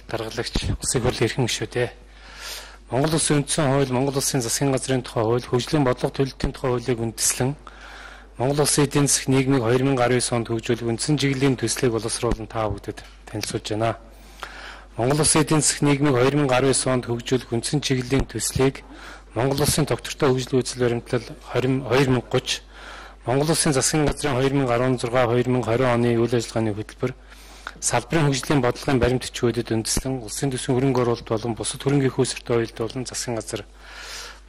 даргалагч улсын хурлын эрхэм гишүүдээ. Монгол Улсын үндсэн хууль, Монгол Улсын засгийн газрын тухай хууль, хөгжлийн бодлого төлөлтийн тухай хуулийг үндэслэн Монгол Улсын эдийн засаг нийгмийг 2019 онд хөгжүүлэх үндсэн чиглэлийн төслийг боловсруулан та бүхэнд танилцуулж байна. Монгол Улсын эдийн засаг нийгмийг 2019 онд хөгжүүлэх үндсэн чиглэлийн төслийг Монгол Улсын тогтвортой хөгжлийн үзэл баримтлал 2030, Монгол Улсын засгийн газрын 2016-2020 оны үйл ажиллагааны хөтөлбөр, салбарын хөгжлийн бодлогын баримт бичгүүдэд үндэслэн улсын төсвийн хөрөнгө оруулалт болон бусад хөрөнгөний хөөсөртөө уялдуулан засгийн газар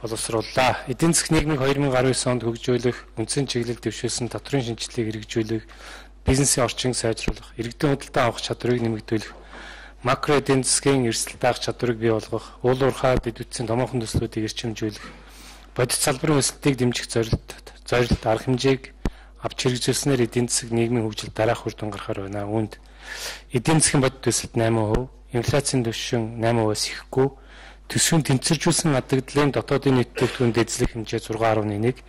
боловсрууллаа. Эдийн засаг нийгмийг 2019 онд хөгжүүлэх, үндсэн чиглэл дэвшүүлсэн татврын шинжилгээг хэрэгжүүлэх, бизнесийн орчин сайжруулах, иргэдийн худалдаа авах чадварыг нэмэгдүүлэх, макро эдийн засгийн эрсдэл даах чадварыг бий болгох, уул уурхай дэд үтсийн томоохон төслүүдийг эрчимжүүлэх, бодит салбарын өсөлтийг дэмжих зорилт арга хэмжээг авч хэрэгжүүлснээр эдийн засаг нийгмийн хөгжилд дараах үр дүн гаргахаар байна. Үүнд эдийн засгийн бодит өсөлт 8%, инфляцийн түвшин 8%-аас ихэхгүй, төсвийн тэнцвэржүүлсэн хадагдлын дотоодын нийт бүтээгдэхүүн дэвшлэх хэмжээ 6.1,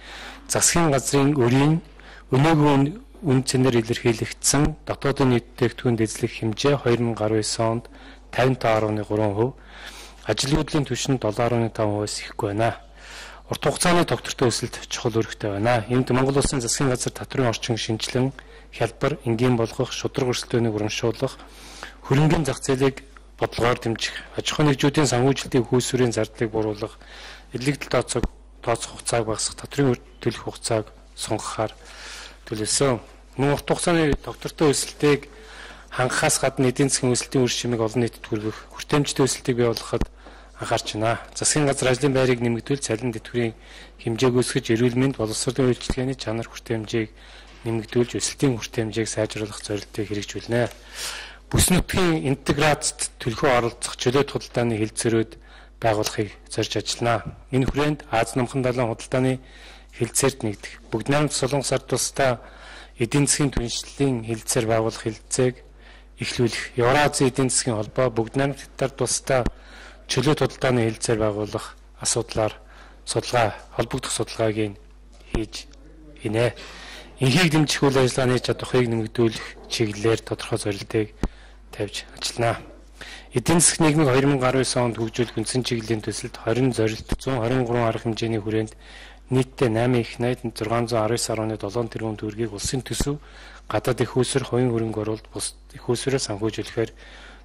засгийн газрын өрийн өнөөгийн үн цэнээр илэрхийлэгдсэн дотоодын нийт бүтээгдэхүүн дэвшлэх хэмжээ 2019 онд 55.3%, ажлын түвшин 7.5%-аас ихэхгүй байна. Урт хугацааны тогтвортой өсөлт чухал үүрэгтэй байна. Энд Монгол Улсын засгийн газар татврын орчин шинжилэн, хялбар, энгийн болгох, шудраг өрсөлдөөнийг урамшуулах, хөрөнгөний зах зээлийг бодлогоор дэмжих, аж ахуй нэгжүүдийн санхүүжилтийн хөөсвөрийн зардлыг бууруулах, эдлэгдэл тооцох хугацааг багасгах, татврын төлөх хугацааг сунгахаар төлөвлөсөн. Мөн урт хугацааны тогтвортой өсөлтийг хангахаас гадна эдийн засгийн өсөлтийн үр шимийг олон нийтэд хүргэх, хүртээмжтэй өсөлтийг бий болгоход анхаарч байна. Засгийн газар ажлын байрыг нэмэгдүүл, цалин тэтгэврийн хэмжээг өсгөж, эрүүл мэнд, боловсролын үйлчилгээний чанар хүртээмжийг нэмэгдүүлж, өсөлтийн хүртээмжийг сайжруулах зорилтыг хэрэгжүүлнэ. Бүс нутгийн интеграцид төлхөө оролцох чөлөөт худалдааны хэлэлцээрүүд байгуулахыг зорж ажиллана. Энэ хүрээнд Аз намхан далайн худалдааны хэлэлцээрт нэгдэх, Бүгд найрамд Солонгос ард тусдаа эдийн засгийн түншлэлийн хэлэлцээр байгуулах хэлэлцээг эхлүүлэх, Евразийн эдийн засгийн холбоо, Бүгд найрамд Хятад тусдаа чөлөөт худалдааны хэлэлцээр байгуулах асуудлаар холбогдох судалгааг хийж хийнэ. Инхийг дэмжих үйл ажиллагааны чадварыг нэмэгдүүлэх чиглэлээр тодорхой зорилтыг тавьж ажиллана. Эдийн засаг нийгмийг 2019 онд хөгжүүлэх үндсэн чиглэлийн төсөлд 20 зорилт 123 арга хэмжээний хүрээнд нийтдээ 8,619.7 тэрбум төгрөгийг улсын төсөв, гадаад их хөөсөр, хувийн хөрөнгө оруулалт, бус их хөөсөрөөр санхүүжүүлэхээр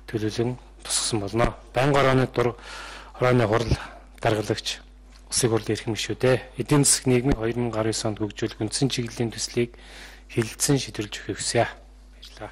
төлөвлөн тусгасан болно. Байнгын орооны хурал даргалагч улсын хурлын эрхэм гишүүдээ. Эдийн засаг нийгмийг 2019 онд хөгжүүлэх үндсэн чиглэлийн төслийг хэлэлцэн шийдвэрлэж өгөхийг хүсье. Баярлалаа.